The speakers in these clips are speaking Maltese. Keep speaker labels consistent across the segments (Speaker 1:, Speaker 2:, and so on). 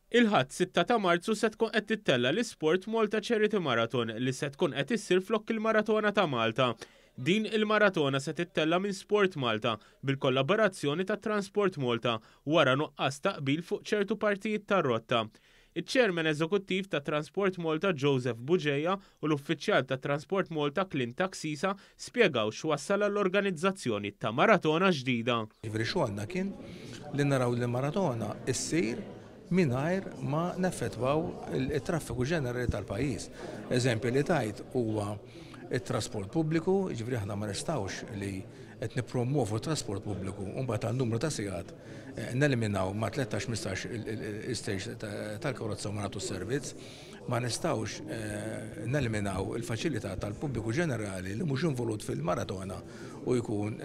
Speaker 1: Il-Ħadd 6 ta' Marzu se tkun qed tittella' l-Isport Malta Charity Marathon li se tkun qed issir flok il-Maratona ta' Malta. Din il-maratona se tittella' minn Sport Malta bil-kollaborazzjoni ta' Transport Malta wara nuqqas ta' qbil fuq ċertu partijiet tar-rotta. Iċ-Chairman Eżekuttiv ta' Transport Malta Joseph Bugeja u l-Uffiċjal ta' Transport Malta Clint Axisa spjegaw x'wassal għall-organizzazzjoni ta' maratona ġdida.
Speaker 2: Jiġifieri xogħolna kien li naraw li l-maratona ssir mingħajr ma neffettwaw it-traffiku ġenerali tal-pajjiż. Eżempju li tajt huwa t-trasport pubbliku, jiġifieri aħna ma nistgħux li qed nippromwovu t-trasport pubbliku u mbagħad għal numru ta' sigħat neliminaw ma' 13, 15 il-stage tal-karozza u ma nagħtux servizz. Ma nistgħux neliminaw il-faċilità tal-pubbliku ġenerali li mhux involut fil-maratona u jkun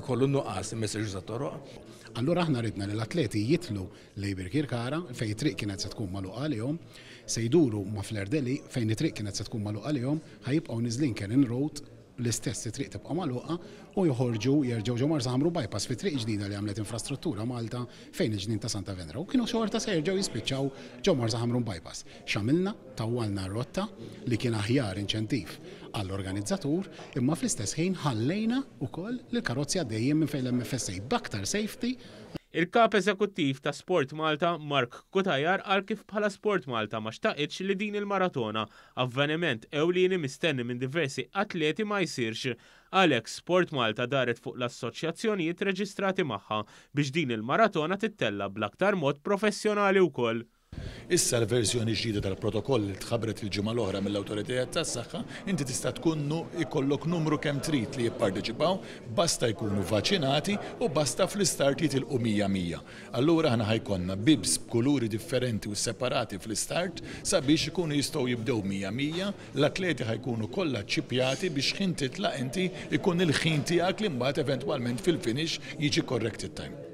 Speaker 2: ikollu nuqqas li ma jistax juża t-toroq.
Speaker 3: Allura aħna ridna li l-atleti jidħlu lejn Birkirkara, fejn it-triq kienet se tkun magħluqa għalihom, se jduru ma' Fleur de Lys, fejn it-triq kienet se tkun magħluqa għalihom, ħa jibqgħu niżlin Cannon Road, l-istess it-triq tibqa' magħluqa, u joħorġu jerġgħu ġo Marsa Ħamru Bypass fi triq ġdida li għamlet Infrastruttura Malta fejn il-ġnien ta' Santa Venera u kienu xorta se jerġgħu jispiċċaw ġo Marsa Ħamrun Bypass. X'għamilna? Tawwalna r-rotta li kien aħjar inċentiv għall-organizzatur imma fl-istess ħin ħallejna wkoll lill-karozzi għaddejjin minn fejn l-MFSA b'aktar safety.
Speaker 1: Il-Kap Eżekuttiv ta' Sport Malta, Mark Cutajar qal kif bħala Sport Malta ma xtaqitx li din il-maratona, avveniment ewlieni mistenni minn diversi atleti ma jsirx. Għalhekk Sport Malta daret fuq l-assoċjazzjonijiet reġistrati magħha biex din il-maratona tittella' bl-aktar mod professjonali wkoll.
Speaker 4: Issa l-verżjoni ġdida tal-protokoll li tħabbret il-ġimgħa l-oħra mill-awtoritajiet tas-saħħa, inti tista' tkun ikollok numru kemm trid li jipparteċipaw, basta jkunu vaċinati u basta fl-istart jitilqu 100 100. Allura aħna ħa jkollna bibs b'kuluri differenti u separati fl-istart sabiex ikunu jistgħu jibdew 100 100, l-atleti ħa jkunu kollha ċċippjati biex x'ħin titlaq inti jkun il-ħin tiegħek li mbagħad eventwalment fil-finish jiġi corrected time.